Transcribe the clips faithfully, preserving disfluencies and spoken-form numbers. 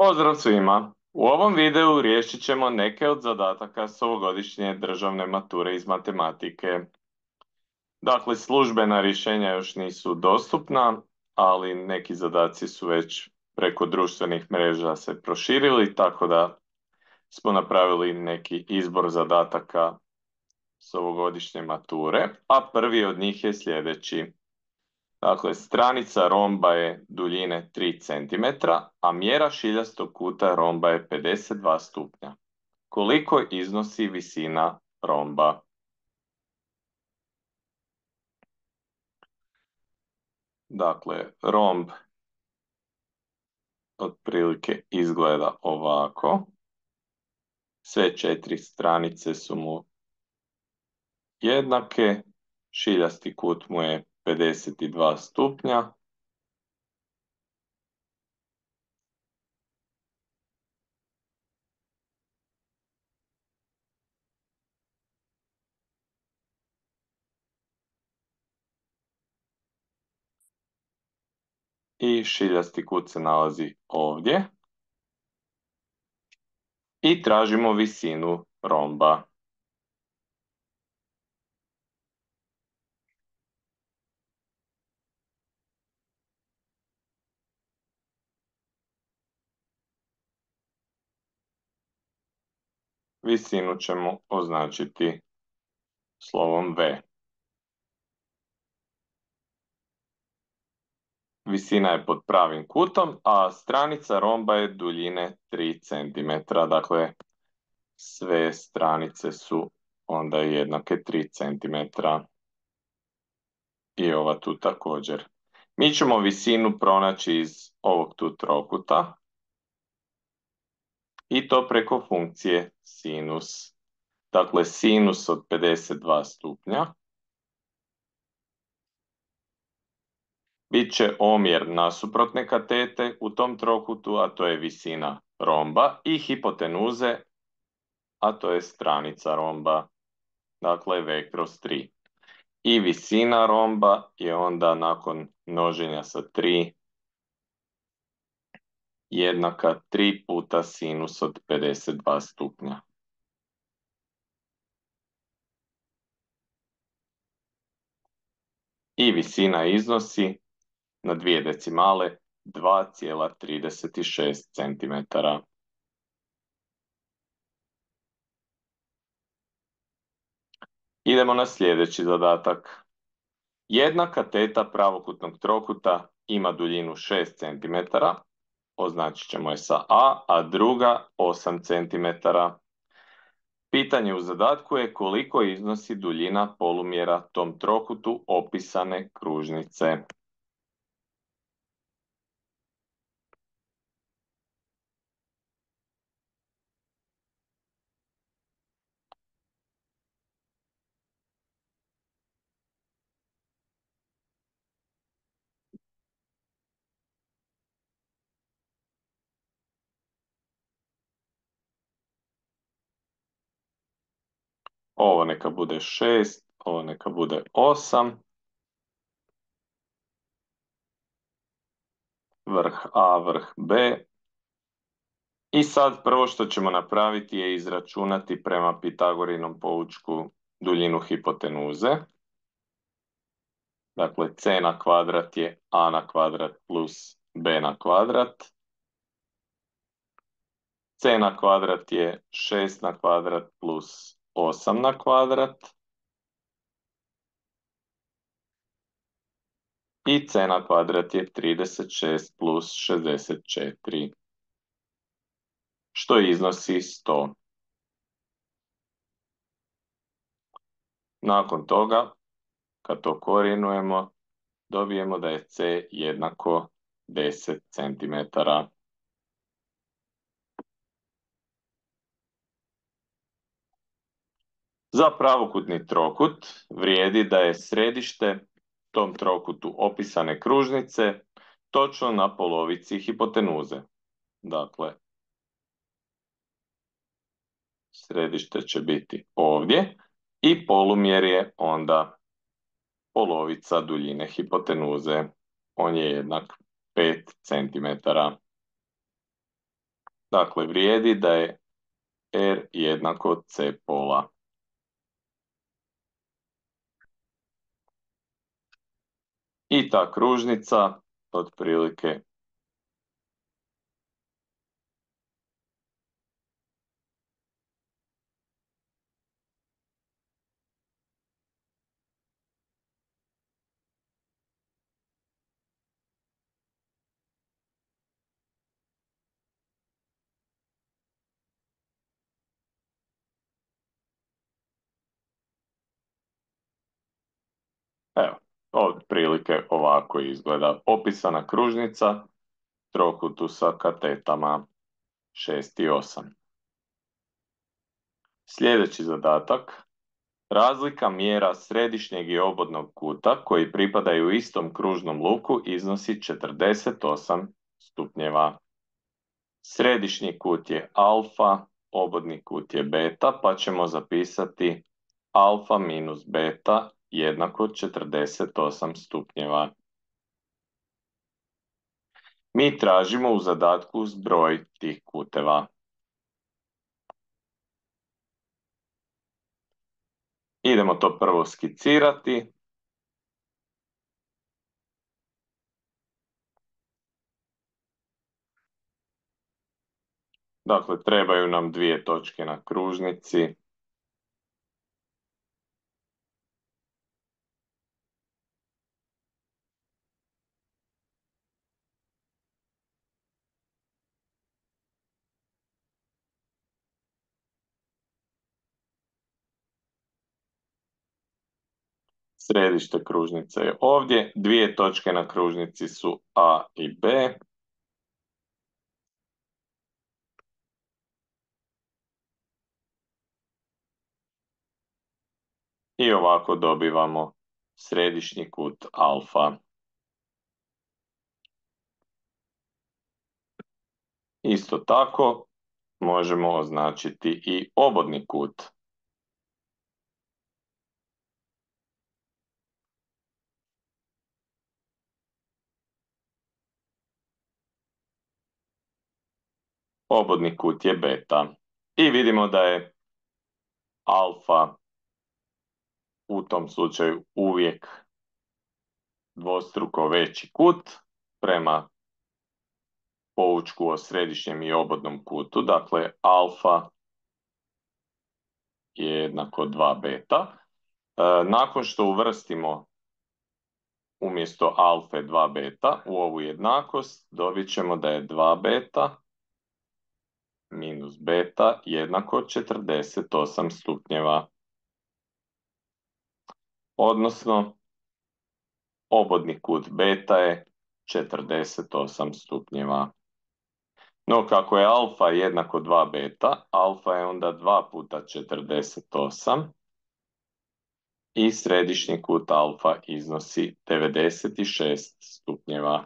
Pozdrav svima! U ovom videu riješit ćemo neke od zadataka s ovogodišnje državne mature iz matematike. Dakle, službena rješenja još nisu dostupna, ali neki zadaci su već preko društvenih mreža se proširili, tako da smo napravili neki izbor zadataka s ovogodišnje mature, a prvi od njih je sljedeći. Dakle, stranica romba je duljine tri centimetra, a mjera šiljastog kuta romba je pedeset dva stupnja. Koliko iznosi visina romba? Dakle, romb otprilike izgleda ovako. Sve četiri stranice su mu jednake, šiljasti kut mu je pedeset dva stupnja. I šiljasti kut se nalazi ovdje. I tražimo visinu romba. Visinu ćemo označiti slovom V. Visina je pod pravim kutom, a stranica romba je duljine tri centimetra. Dakle, sve stranice su onda jednake tri centimetra. I ova tu također. Mi ćemo visinu pronaći iz ovog tu trokuta. I to preko funkcije sinus. Dakle, sinus od pedeset dva stupnja bit će omjer nasuprotne katete u tom trokutu, a to je visina romba, i hipotenuze, a to je stranica romba, dakle V kroz tri. I visina romba je onda nakon množenja sa tri jednaka tri puta sinus od pedeset dva stupnja. I visina iznosi na dvije decimale dva zarez trideset šest centimetara. Idemo na sljedeći zadatak. Jedna kateta pravokutnog trokuta ima duljinu šest centimetara, označit ćemo je sa A, a druga osam centimetara. Pitanje u zadatku je koliko iznosi duljina polumjera tom trokutu opisane kružnice. Ovo neka bude šest, ovo neka bude osam. Vrh A, vrh B. I sad prvo što ćemo napraviti je izračunati prema Pitagorinom poučku duljinu hipotenuze. Dakle, c na kvadrat je a na kvadrat plus b na kvadrat. C na kvadrat je šest na kvadrat plus osam na kvadrat. I c na kvadrat je trideset šest plus šezdeset četiri. Što iznosi sto. Nakon toga, kad to korijenujemo, dobijemo da je c jednako deset centimetara. Za pravokutni trokut vrijedi da je središte tom trokutu opisane kružnice točno na polovici hipotenuze. Dakle, središte će biti ovdje i polumjer je onda polovica duljine hipotenuze. On je jednak pet centimetara. Dakle, vrijedi da je R jednako C pola. I ta kružnica otprilike evo, otprilike ovako izgleda opisana kružnica trokutu sa katetama šest i osam. Sljedeći zadatak. Razlika mjera središnjeg i obodnog kuta koji pripadaju istom kružnom luku iznosi četrdeset osam stupnjeva. Središnji kut je alfa, obodni kut je beta, pa ćemo zapisati alfa minus beta jednako četrdeset osam stupnjeva. Mi tražimo u zadatku zbroj tih kuteva. Idemo to prvo skicirati. Dakle, trebaju nam dvije točke na kružnici. Središte kružnice je ovdje. Dvije točke na kružnici su A i B. I ovako dobivamo središnji kut alfa. Isto tako možemo označiti i obodni kut. Obodni kut je beta. I vidimo da je alfa u tom slučaju uvijek dvostruko veći kut prema poučku o središnjem i obodnom kutu. Dakle, alfa je jednako dva beta. E, nakon što uvrstimo umjesto alfe dva beta u ovu jednakost, dobit ćemo da je dva beta minus beta jednako četrdeset osam stupnjeva. Odnosno, obodni kut beta je četrdeset osam stupnjeva. No, kako je alfa jednako dva beta, alfa je onda dva puta četrdeset osam i središnji kut alfa iznosi devedeset šest stupnjeva.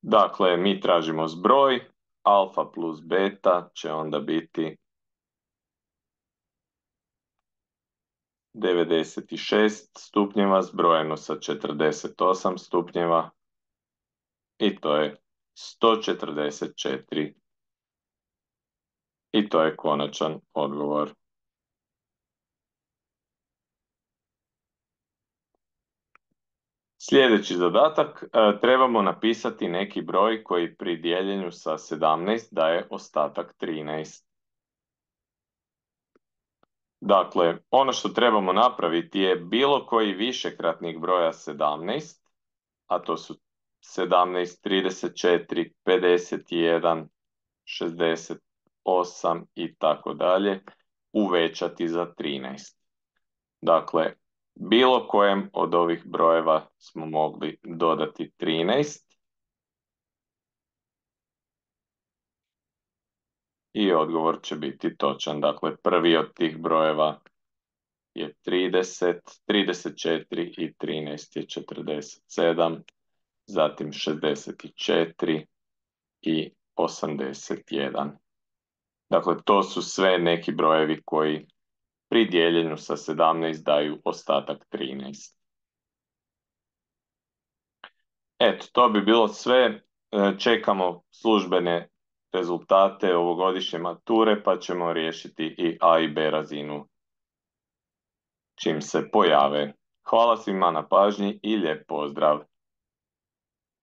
Dakle, mi tražimo zbroj, alfa plus beta će onda biti devedeset šest stupnjeva zbrojeno sa četrdeset osam stupnjeva i to je sto četrdeset četiri. I to je konačan odgovor. Sljedeći zadatak, e, trebamo napisati neki broj koji pri dijeljenju sa sedamnaest daje ostatak trinaest. Dakle, ono što trebamo napraviti je bilo koji višekratnik broja sedamnaest, a to su sedamnaest, trideset četiri, pedeset jedan, šezdeset osam i tako dalje, uvećati za trinaest. Dakle, bilo kojem od ovih brojeva smo mogli dodati trinaest i odgovor će biti točan. Dakle, prvi od tih brojeva je trideset, trideset četiri i trinaest je četrdeset sedam, zatim šezdeset četiri i osamdeset jedan. Dakle, to su sve neki brojevi koji pri dijeljenju sa sedamnaest daju ostatak trinaest. Eto, to bi bilo sve. e, čekamo službene rezultate ovogodišnje mature pa ćemo riješiti i A i B razinu čim se pojave. Hvala svima na pažnji i lijep pozdrav!